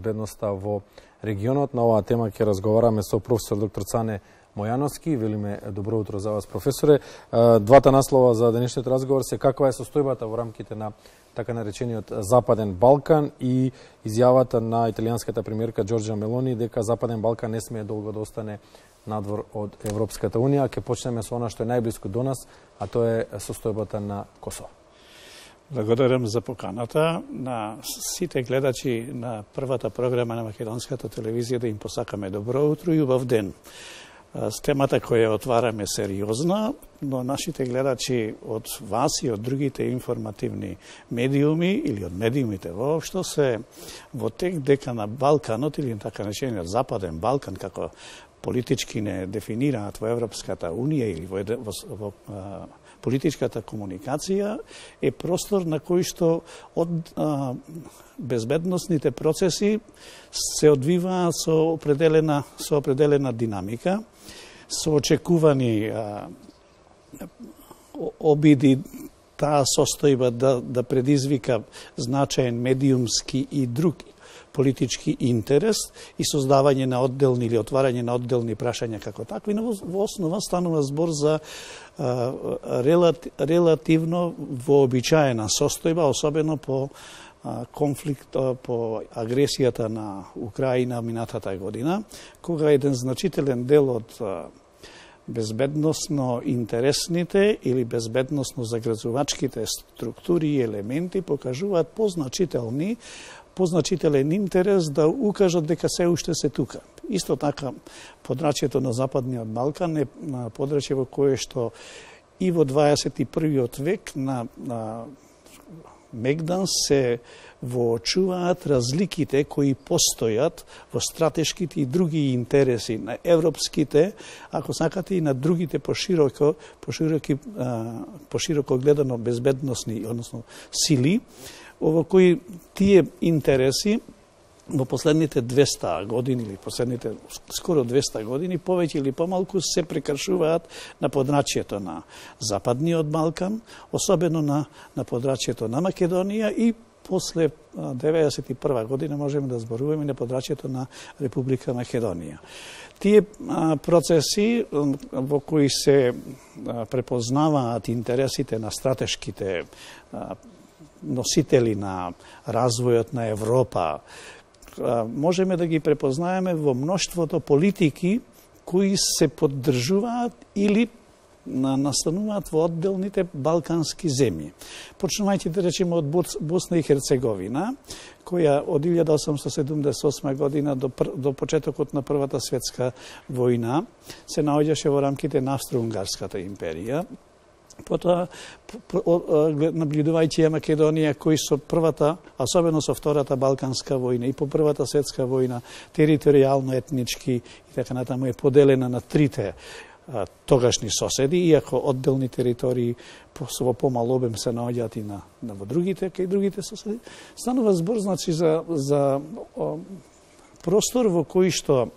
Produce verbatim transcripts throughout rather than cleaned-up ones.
безбедноста во регионот. На оваа тема ќе разговараме со професор доктор Цане Мојановски. Велиме добро утро за вас, професоре. Двата наслова за денешниот разговор се каква е состојбата во рамките на така наречениот Западен Балкан и изјавата на италијанската премиерка Џорџа Мелони дека Западен Балкан не смее долго да остане надвор од Европската Унија. Ке почнеме со она што е најблиско до нас, а тоа е состојбата на Косово. Благодарам за поканата на сите гледачи на првата програма на македонската телевизија да им посакаме добро утро и убав ден. Темата која отвараме сериозна, но нашите гледачи од вас и од другите информативни медиуми или од медиумите воопшто се во тек дека на Балканот или така наречениот Западен Балкан, како политички не дефинираат во Европската Унија или во, во, во а, политичката комуникација, е простор на кој што од а, безбедносните процеси се одвиваат со определена, со определена динамика, со очекувани а, обиди таа состојба да, да предизвика значаен медиумски и друг политички интерес и создавање на отделни или отварање на отделни прашања како такви, но во основа станува збор за а, релати, релативно вообичаена состојба, особено по а, конфликт, а, по агресијата на Украина минатата година, кога еден значителен дел од а, безбедносно интересните или безбедносно загрозувачките структури и елементи покажуваат позначителни позначителен интерес да укажат дека се уште се тука. Исто така, подрачјето на Западниот Балкан е подрачје во кое што и во дваесет и првиот век на, на мегдан се воочуваат разликите кои постојат во стратешките и други интереси на европските, ако сакате и на другите пошироко, пошироки, пошироко гледано безбедносни, односно сили, во кои тие интереси во последните двеста години или последните скоро двеста години повеќе или помалку се прекршуваат на подрачјето на Западниот Балкан, особено на на подрачјето на Македонија и после деветдесет и прва година можеме да зборуваме на подрачјето на Република Македонија. Тие а, процеси во кои се а, препознаваат интересите на стратешките а, носители на развојот на Европа, можеме да ги препознаеме во мноштвото политики кои се поддржуваат или настануваат во одделните балкански земји. Почнувајќи да речеме од Босна и Херцеговина, која од илјада осумстотини седумдесет и осма година до, до почетокот на Првата светска војна се наоѓаше во рамките на Австро-Унгарската империја. Потоа, наблюдувајќи ја Македонија, кои со првата, особено со Втората Балканска војна и по Првата светска војна, територијално, етнички и така натаму е поделена на трите а, тогашни соседи, иако одделни територии во помал обем се наоѓаат и на, на во другите, кај другите соседи. Станува збор, значи, за, за о, простор во кој што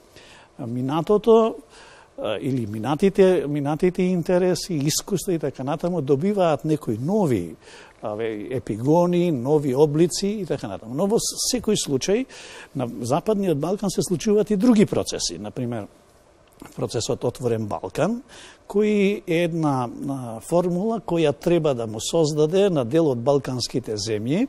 минатото или минатите, минатите интереси, искуства и така натаму добиваат некои нови аве, епигони, нови облици и така натаму. Но во секој случај на Западниот Балкан се случуваат и други процеси. Например, процесот Отворен Балкан, кој е една формула која треба да му создаде на дел од балканските земји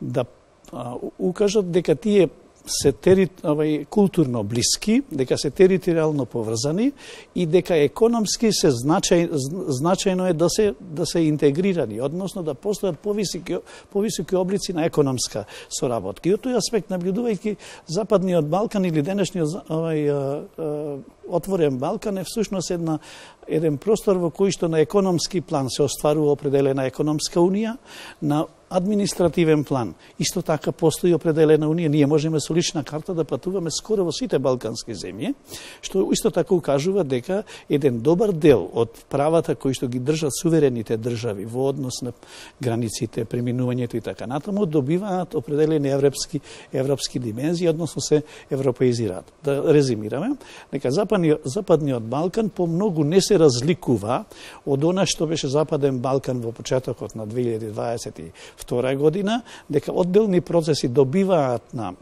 да а, укажат дека тие се тери, овај, културно блиски, дека се територијално поврзани и дека економски се значај, значајно е да се да се интегрирани, односно да постојат повисоки повисоки облици на економска соработка. И од тој аспект, наблюдувајќи Западниот Балкан или денешниот овај Отворен Балкан е всушност една еден простор во кој што на економски план се остварува определена економска унија, на административен план исто така постои определена унија. Ние можеме со лична карта да патуваме скоро во сите балкански земји, што исто така укажува дека еден добар дел од правата кои што ги држат суверените држави во однос на границите, преминувањето и така натаму, добиваат определени европски европски димензии, односно се европеизираат. Да резимираме, дека Западниот, Западниот Балкан по многу не се разликува од она што беше Западен Балкан во почетокот на две илјади дваесет и втора година, дека одделни процеси добиваат на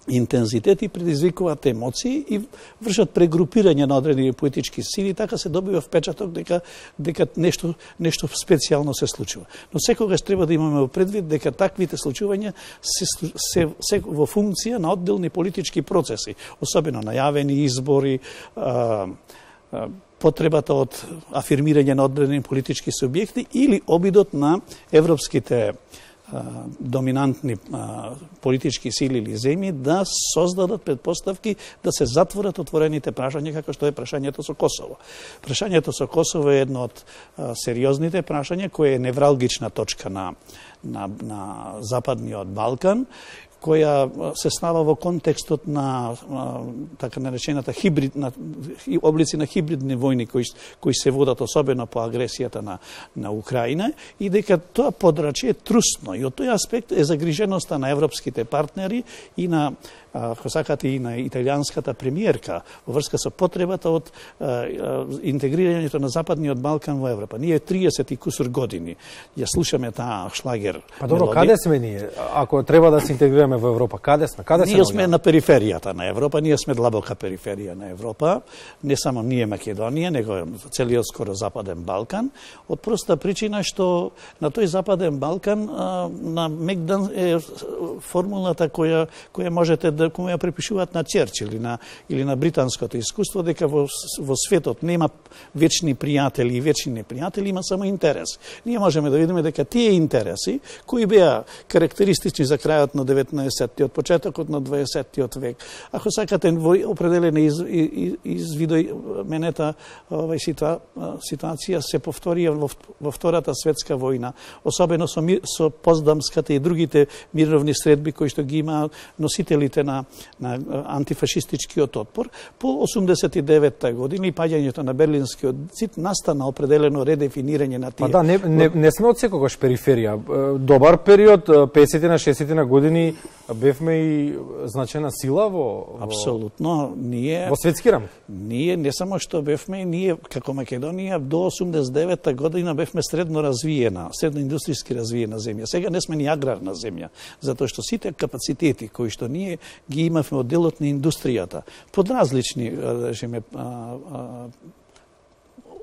интензитет и предизвикуваат емоции и вршат прегрупирање на одредени политички сили, така се добива впечаток дека дека нешто нешто специјално се случува. Но секогаш треба да имаме во предвид дека таквите случувања се, се, се во функција на одделни политички процеси, особено најавени избори, а, а, потребата од афирмирање на одредени политички субјекти или обидот на европските доминантни а, политички сили или земји да создадат предпоставки да се затворат отворените прашања како што е прашањето со Косово. Прашањето со Косово е едно од а, сериозните прашања кое е невралгична точка на, на, на Западниот Балкан, која се става во контекстот на а, така наречената хибрид, на, облици на хибридни војни кои, кои се водат особено по агресијата на, на Украина и дека тоа подрачје е трусно и од тој аспект е загриженоста на европските партнери и на ако сакате и на италијанската премиерка во врска со потребата од а, а, интегрирањето на Западниот Балкан во Европа. Ние триесет и кусур години ја слушаме таа шлагер. Па добро, мелодија. Каде сме ние? Ако треба да се интегрираме во Европа, каде сме? Каде ние сме на периферијата на Европа, ние сме длабока периферија на Европа, не само ние Македонија, него целиот скоро Западен Балкан, од проста причина што на тој Западен Балкан а, на Мегдан е формулата која која можете да која препишуваат на Черчил или на или на британското искуство дека во во светот нема вечни пријатели и вечни непријатели, има само интерес. Ние можеме да видиме дека тие интереси кои беа карактеристични за крајот на деветнаесеттиот, почетокот на дваесеттиот век, ако сакате во определена из, из, извидоменета овај ситуа, ситуација се повторија во, во Втората светска војна, особено со, со Поздамската и другите мировни средби кои што ги има носителите на, на антифашистичкиот отпор. По осумдесет и деветта година и паѓањето на Берлинскиот зид настана определено редефинирање на тие. Па да, не, не, не сме од секогаш периферија. Добар период, песетте на шестдесетте на години бевме и значена сила во, во апсолутно ние во светски рамки. Ние не само што бевме, ние како Македонија до осумдесет и девета година бевме средно развиена, средно индустријски развиена земја. Сега не сме ни аграрна земја, затоа што сите капацитети кои што ние ги имавме од делот на индустријата, под различни, речеме,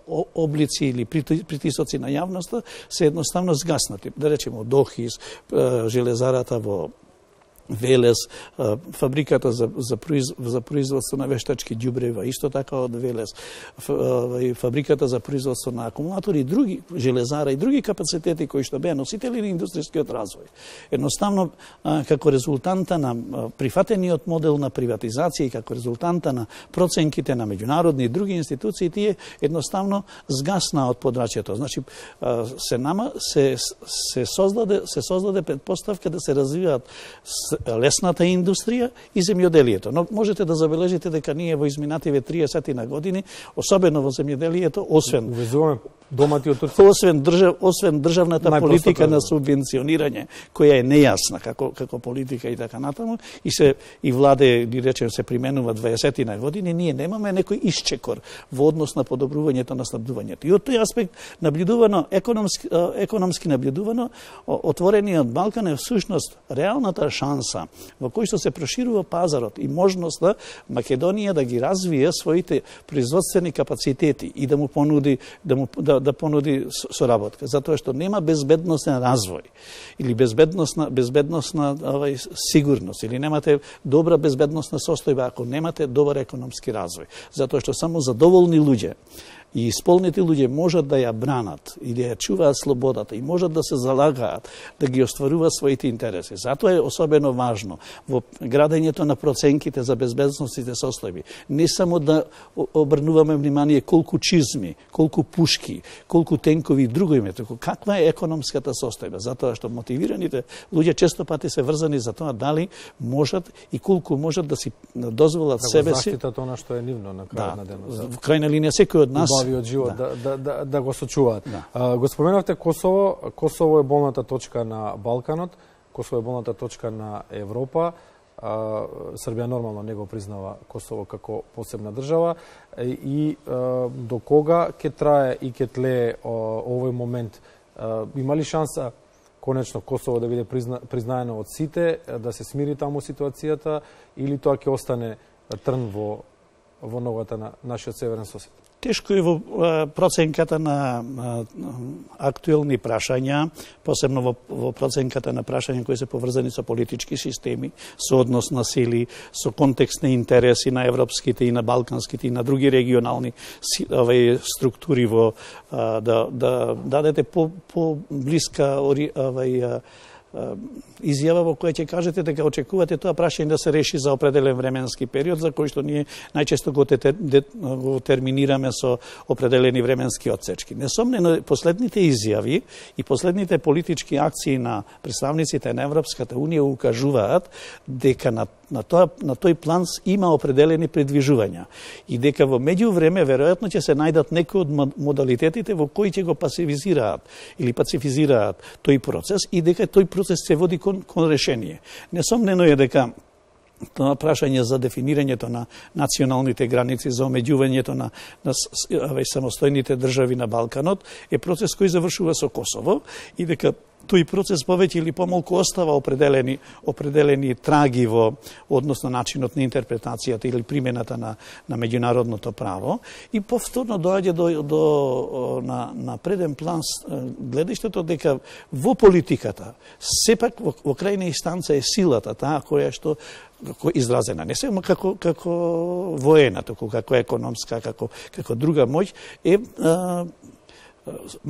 облици или притисоци на јавноста се едноставно згаснати. Да речеме од Охис, железарата во Велес, фабриката за, за, произ, за производство на вештачки ѓубрева, исто така од Велес, фабриката за производство на акумулатори и други, железара и други капацитети кои што беа носители на индустријскиот развој. Едноставно, како резултанта на прифатениот модел на приватизација и како резултанта на проценките на меѓународни и други институции, тие едноставно згасна од подрачјето. Значи, се нама се, се создаде се создаде предпоставка да се развиваат лесната индустрија и земјоделието. Но можете да забележите дека ние во изминативе триесет на години, особено во земјоделието, освен увезуваме домати од Турција, освен држав, освен државната политика на субвенционирање, која е нејасна како како политика и така натаму, и се и владе, ни речем, се применува дваесет на години, ние немаме некој исчекор во однос на подобрувањето на снабдувањето. И од тој аспект наблюдувано економски економски наблюдувано, отворениот Балкан е всушност реалната шанса во кој што се проширува пазарот и можноста Македонија да ги развие своите производствени капацитети и да му понуди да му да, да понуди соработка, затоа што нема безбедносен развој или безбедносна безбедносна овај сигурност или немате добра безбедносна состојба ако немате добар економски развој, затоа што само задоволни луѓе и исполнети луѓе можат да ја бранат и да ја чуваат слободата и можат да се залагаат да ги остваруваат своите интереси. Затоа е особено важно во градењето на проценките за безбедносните состојби не само да обрнуваме внимание колку чизми, колку пушки, колку тенкови и друго име, туку каква е економската состојба, затоа што мотивираните луѓе често пати се врзани за тоа дали можат и колку можат да си дозволат да себе си заштитат она што е нивно на крајот на денот. Да, во крајна линија секој од нас од живот да. Да, да, да, да го сочуваат. Да. А, го споменавте Косово, Косово е болната точка на Балканот, Косово е болната точка на Европа. А, Србија нормално не го признава Косово како посебна држава и а, до кога ќе трае и ќе тлее овој момент? А, има ли шанса конечно Косово да биде призна, признаено од сите, да се смири таму ситуацијата, или тоа ќе остане трн во во ногата на нашиот северен сосед? Тешко е во проценката на актуелни прашања, посебно во, во проценката на прашања кои се поврзани со политички системи, со однос на сили, со контекстни интереси на европските и на балканските и на други регионални овај структури во да да дадете по по блиска овај изјава во која ќе кажете дека очекувате тоа прашање да се реши за определен временски период, за кој што ние најчесто го, те, го терминираме со определени временски отсечки. Несомнено, последните изјави и последните политички акции на представниците на Европската Унија укажуваат дека на, на, тоа, на тој план има определени предвижувања и дека во меѓувреме веројатно ќе се најдат некои од модалитетите во кои ќе го пасивизираат или пацифизираат тој процес и дека тој процес се води кон, кон решение. Несомнено е дека тоа прашање за дефинирањето на националните граници, за омеѓувањето на, на самостојните држави на Балканот е процес кој завршува со Косово и дека тој процес повеќе или помалку остава определени определени траги во однос на начинот на интерпретацијата или примената на на меѓународното право и повторно доаѓа до до на на преден план гледаштето дека во политиката сепак во, во крајна инстанца е силата таа која што како изразена не само како како воена, туку како економска, како како друга моќ е а,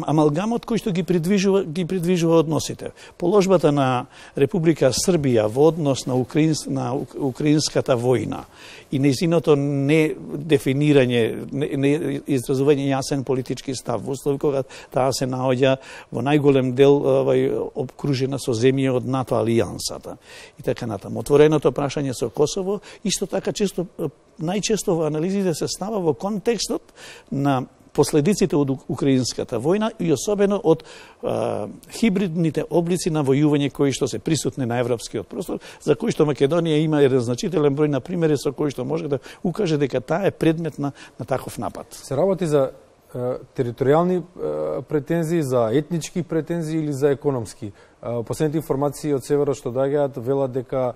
амалгамот кој што ги придвижува ги придвижува односите. Положбата на Република Србија во однос на украинс, на украинската војна и нејзиното не дефинирање, не, не изразување јасен политички став, во услови кога таа се наоѓа во најголем дел овај обкружена со земји од НАТО алијансата и така натаму. Отвореното прашање со Косово исто така често најчесто во анализите се става во контекстот на последиците од украинската војна и особено од а, хибридните облици на војување кои што се присутни на европскиот простор, за кои што Македонија има еден значителен број на примери со кои што може да укаже дека таа е предмет на, на таков напад. Се работи за е, територијални е, претензии, за етнички претензии или за економски? Е, последните информации од северот што доаѓаат велат дека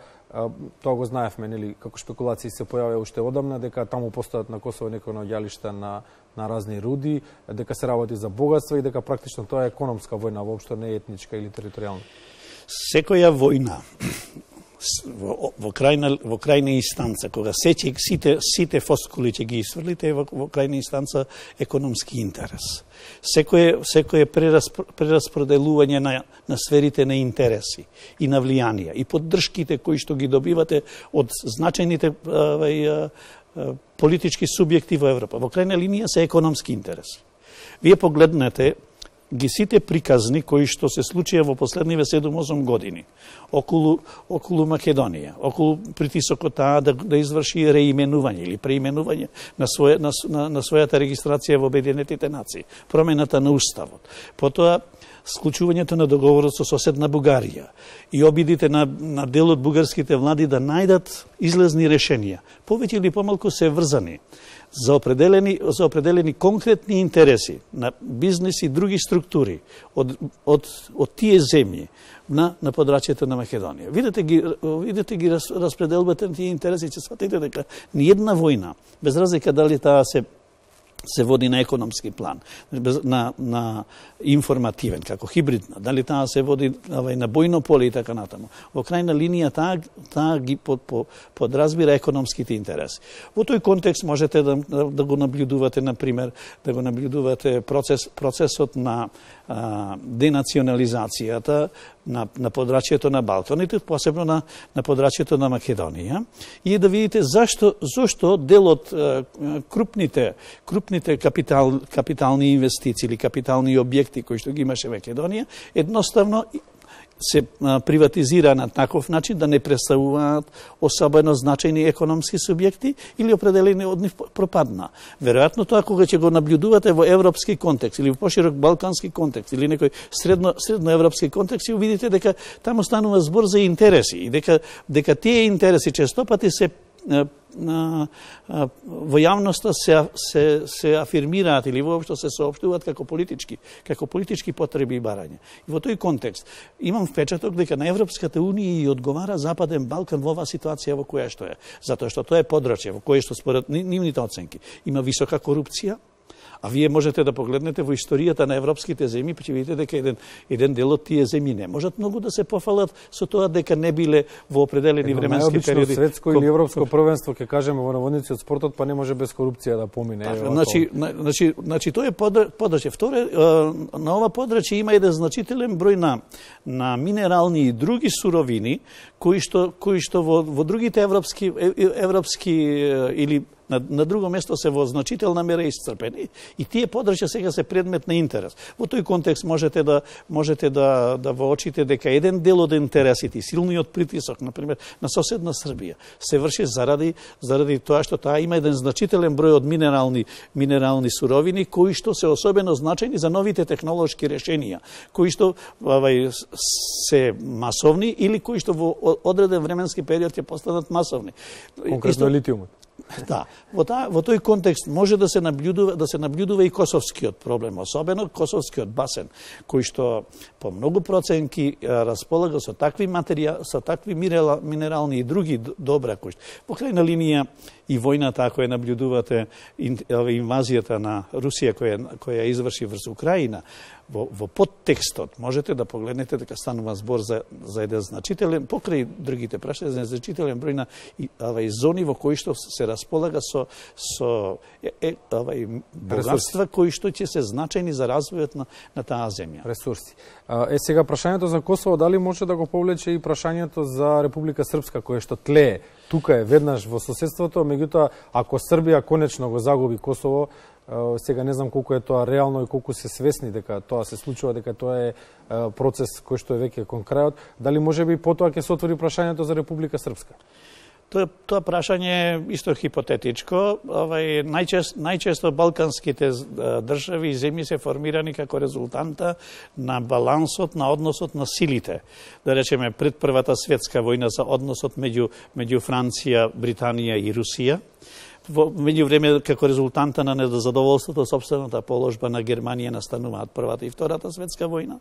тоа го знаевме, нели, како шпекулации се појавија уште одамна, дека таму постојат на Косово некои наоѓалишта на, на разни руди, дека се работи за богатство и дека практично тоа е економска војна, воопшто не е етничка или територијална. Секоја војна во, во крајна во крајна инстанца, кога сеќе сите сите фоскули ќе ги исфрлите, во, во крајна инстанца економски интерес. Секое секое прераспределување на на сферите на интереси и на влијанија и поддршките кои што ги добивате од значајните а, а, политички субјекти во Европа. Во крајна линија се економски интереси. Вие погледнете ги сите приказни кои што се случија во последниве седум-осум години околу околу Македонија, околу притисокот таа да, да изврши реименување или преименување на своја на, на, на својата регистрација во Обединетите нации, промената на уставот. Потоа склучувањето на договорот со соседна Бугарија и обидите на, на дел од бугарските влади да најдат излезни решенија, повеќе или помалку се врзани за определени, за определени конкретни интереси на бизнес и други структури од, од, од тие земји на, на подрачјето на Македонија. Видете ги, видете ги раз, распределбата на тие интереси, ќе сватите дека ни една војна, без разлика дали таа се се води на економски план, на, на информативен, како хибридна, дали таа се води авај, на бојно поле и така натаму. Во крајна линија таа, таа ги под, по, подразбира економските интереси. Во тој контекст можете да, да го наблюдувате, например, да го наблюдувате процес, процесот на а, денационализацијата на, на подрачјето на Балканите, посебно на, на подрачјето на Македонија, и да видите зашто, зашто дел од а, крупните, крупните капитал, капитални инвестиции или капитални објекти кои што ги имаше Македонија, едноставно се приватизира на таков начин да не представуваат особено значајни економски субјекти или определени од нив пропадна. Веројатно тоа кога ќе го наблюдувате во европски контекст или во поширок балкански контекст или некој средно средноевропски контекст, ќе видите дека таму станува збор за интереси и дека дека тие интереси често пати се во јавноста се, се, се афирмираат или воопшто се соопштуваат како политички, како политички потреби и барања. И во тој контекст имам впечаток дека на Европската унија и одговара Западен Балкан во оваа ситуација во која што е. Затоа што тоа е подрачје во кое што според нивните оценки има висока корупција. А вие можете да погледнете во историјата на европските земји, па ќе видите дека еден, еден дел од тие земји не можат многу да се пофалат со тоа дека не биле во определени Едно временски периоди. Светско или европско првенство, ќе кажеме во наводници од спортот, па не може без корупција да помине. Так, значи, значи, значи, тоа е подрачје. Вторе, на ова подрачје има еден значителен број на, на минерални и други суровини, кои што, кои што во, во другите европски, европски или На, на друго место се во значителна мера исцрпени и тие подрачја сега се предмет на интерес. Во тој контекст можете да можете да да воочите дека еден дел од интересите и силниот притисок, на пример, на соседна Србија се врши заради заради тоа што таа има еден значителен број од минерални минерални суровини кои што се особено значајни за новите технолошки решенија, кои што авај се масовни или кои што во одреден временски период ќе постанат масовни. Конкретно литиумот. Да, во, та, во тој контекст може да се наблюдува да се наблюдува и косовскиот проблем, особено косовскиот басен, кој што по многу проценки располага со такви материјали, со такви минерални и други добра кои во крајна линија и војната која наблюдувате инвазијата на Русија која која изврши врз Украина, во, во подтекстот можете да погледнете дека станува збор за за еден значителен покрај другите прашања за значителен број на авај зони во кои што се располага со со е, е, авај богатства кои што ќе се значајни за развојот на на таа земја. Ресурси. Е сега прашањето за Косово дали може да го повлече и прашањето за Република Српска кое што тлее тука е веднаш во соседството, меѓутоа ако Србија конечно го загуби Косово, сега не знам колку е тоа реално и колку се свесни дека тоа се случува, дека тоа е процес кој што е веќе кон крајот, дали можеби потоа ќе се отвори прашањето за Република Српска? Тоа, тоа прашање е исто хипотетичко. Овај, најчест, најчесто балканските држави и земји се формирани како резултанта на балансот, на односот на силите. Да речеме, пред Првата светска војна за односот меѓу, меѓу Франција, Британија и Русија. Во меѓувреме, како резултанта на незадоволството собствената положба на Германија настануваат Првата и Втората светска војна.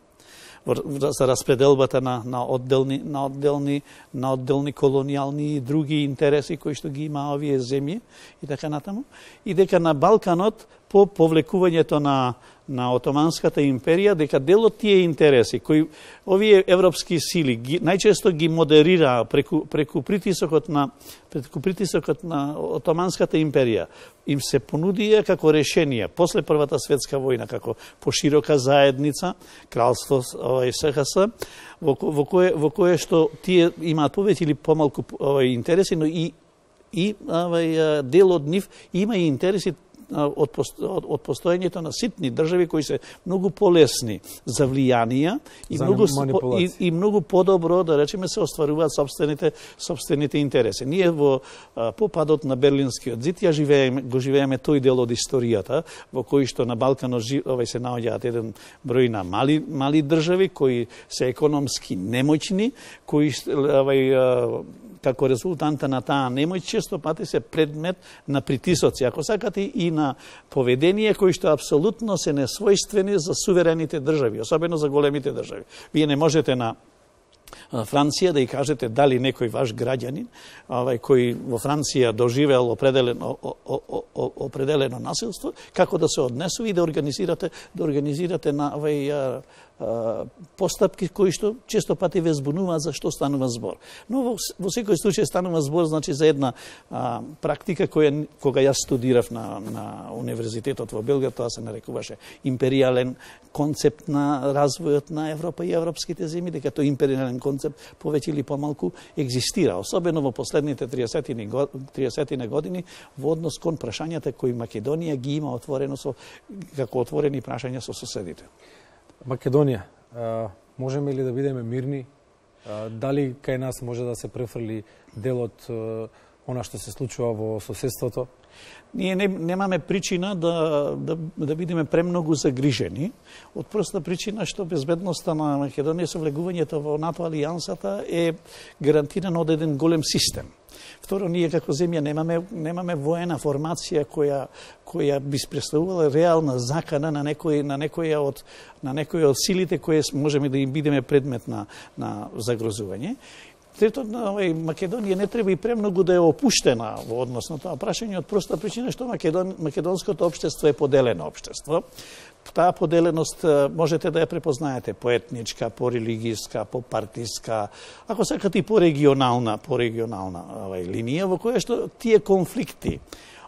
За распределбата на, на, одделни, на, одделни, на одделни колонијални и други интереси кои што ги има овие земји и така натаму. И дека на Балканот по повлекувањето на на Отоманската империја, дека дел од тие интереси кои овие европски сили ги, најчесто ги модерираа преку преку притисокот на преку притисокот на Отоманската империја, им се понудија како решение после Првата светска војна како поширока заедница, кралство овај СХС, во, во кое во кое што тие имаат повеќе или помалку овај интереси, но и и овај дел од нив има и интереси од, од, од постоењето на ситни држави кои се многу полесни за влијанија и за многу и, и многу подобро да речеме се остваруваат собствените собствените интереси. Ние во а, по падот на Берлинскиот зид ја живееме го живееме тој дел од историјата во кој што на Балканот овај се наоѓаат еден број на мали мали држави кои се економски немоćни, кои овај како резултанта на таа немоќ често пати се предмет на притисоци, ако сакате и на поведение кои што апсолутно се несвојствени за суверените држави, особено за големите држави. Вие не можете на Франција да и кажете дали некој ваш граѓанин, овај кој во Франција доживеал определено о, о, о, определено насилство, како да се однесува и да организирате да организирате на овај постапки кои што често пати ве збунуваат за што станува збор. Но во, во секој случај станува збор значи за една а, практика која кога јас студирав на на универзитетот во Белград, тоа се нарекуваше империјален концепт на развојот на Европа и европските земји, дека тој империјален концепт повеќе или помалку екзистира, особено во последните триесет години во однос кон прашањата кои Македонија ги има отворено со како отворени прашања со соседите. Македонија, можеме ли да бидеме мирни? Дали кај нас може да се префрли дел од она што се случува во соседството? Ние не, немаме причина да, да, да бидеме премногу загрижени, од проста причина што безбедноста на Македонија со влегувањето во НАТО алијансата е гарантирана од еден голем систем. Второ, ние како земја немаме немаме воена формација која која би представувала реална закана на некој на некоја од на некоја од силите кои можеме да им бидеме предмет на на загрозување. Трето, овај Македонија не треба и премногу да е опуштена во однос на тоа прашање од проста причина што Македон, македонското општество е поделено општество. Таа поделеност можете да ја препознаете по етничка, по религијска, по партиска, ако сакате и по регионална, по регионална овај линија во која што тие конфликти,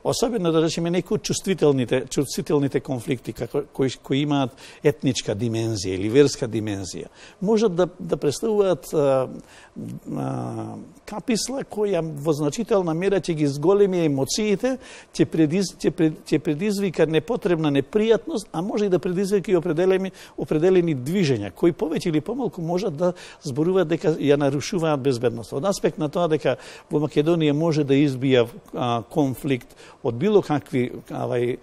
особено да речеме некои чувствителните чувствителните конфликти како кои кои имаат етничка димензија или верска димензија, можат да да представуваат а, а, каписла која во значителна мера ќе ги зголеми емоциите, ќе предиз, ќе, пред, ќе предизвика непотребна непријатност, а може и да предизвика и определени определени движења кои повеќе или помалку можат да зборуваат дека ја нарушуваат безбедноста. Од аспект на тоа дека во Македонија може да избија а, конфликт од било какви авај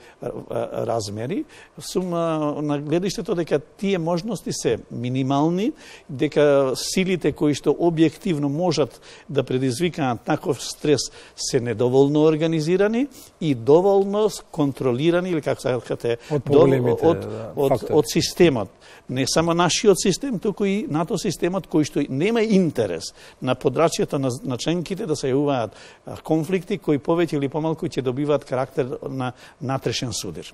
размери, сум на гледиштето дека тие можности се минимални, дека силите кои што објективно можат да предизвикаат таков стрес се недоволно организирани и доволно контролирани или како сакате од од, од, да, од, од системот. Не само нашиот систем, туку и НАТО системот кој што нема интерес на подрачјето на, на членките да се јавуваат конфликти кои повеќе или помалку ќе добиваат карактер на натрешен судир.